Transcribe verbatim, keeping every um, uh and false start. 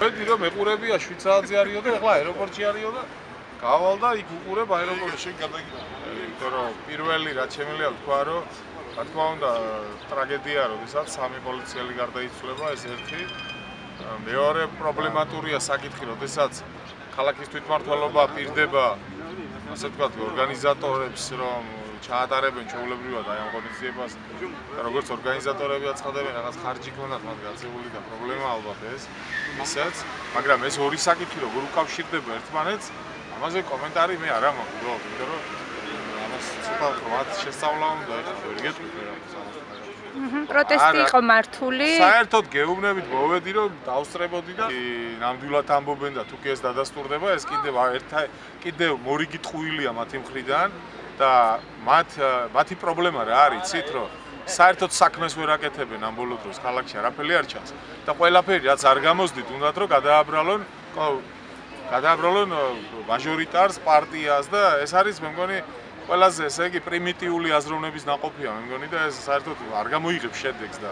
ხედი რომ ეყურებია შვიდ საათზე არისო და ეხლა აეროპორტში არისო და გავალ და იქ უყურებ აეროპორტში შენ გადაგიწყდა. იმიტომ რომ პირველი რაც შემიძლია ვთქვა რომ რა თქმა უნდა ტრაგედია როდესაც სამი პოლიციელი გარდაიცვლება ეს ერთი. მეორე პრობლემატურია საკითხი როდესაც ქალაქის თვითმმართველობა პირდება ასე ვთქვათ ორგანიზატორებს რომ ჩაატარებენ ჩვეულებრივად აი ამ ღონისძიებას და როგორც ორგანიზატორები აცხადებენ რაღაც ხარჯი ქონდათ მათ გაწეული და პრობლემა ალბათ ეს ისაც მაგრამ ეს ორი საკითხი როგორ უკავშირდება ერთმანეთს ამაზე კომენტარი მე არ მაქვს უბრალოდ იმიტომ რომ ამას ცოტა მათ შესწავლა უნდა ეხლა ვერ გეტყვით რა პროტესტი იყო მართული. საერთოდ გეუბნებით მოვედი რომ დავსწრებოდი და ნამდვილად ამბობენ და თუ კი ეს დადასტურდება ეს კიდევ ერთა კიდევ მორიგი ტყუილია მათი მხრიდან და მათ მათი პრობლემა რა არის იცით რომ საერთოდ საქმეს ვერ აკეთებენ ამ ბოლო დროს ქალაქში არაფერი არ ჩანს და ყველაფერი რაც არ გამოსდით უნდათ რომ გადააბრალონ გადააბრალონ მაჟორიტარს პარტიას და ეს არის მე მგონი ყველაზე ესე იგი პრიმიტიული აზროვნების ნაყოფია მე მგონი და ეს საერთოდ არ გამოიღებს შედეგს და